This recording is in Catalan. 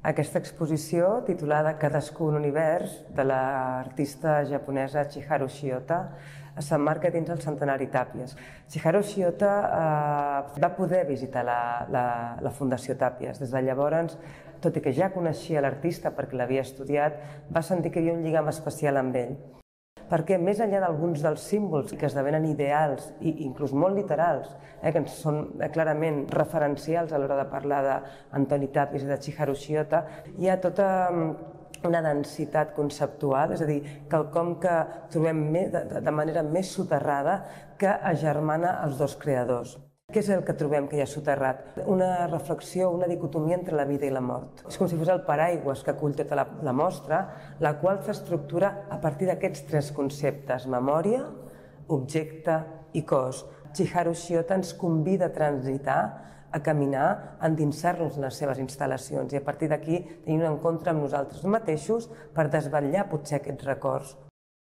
Aquesta exposició, titulada Cadascú un univers, de l'artista japonesa Chiharu Shiota, s'emmarca dins el centenari Tàpies. Chiharu Shiota va poder visitar la Fundació Tàpies. Des de llavors, tot i que ja coneixia l'artista perquè l'havia estudiat, va sentir que hi havia un lligam especial amb ell. Perquè més enllà d'alguns dels símbols que esdevenen ideals i inclús molt literals, que són clarament referencials a l'hora de parlar d'Antoni Tàpies i de Chiharu Shiota, hi ha tota una densitat conceptual, és a dir, quelcom que trobem de manera més soterrada que agermana els dos creadors. Què és el que trobem que hi ha soterrat? Una reflexió, una dicotomia entre la vida i la mort. És com si fos el paraigües que acull tota la mostra, la qual s'estructura a partir d'aquests tres conceptes: memòria, objecte i cos. Chiharu Shiota ens convida a transitar, a caminar, a endinsar-nos en les seves instal·lacions i a partir d'aquí tenir un encontre amb nosaltres mateixos per desvetllar potser aquests records.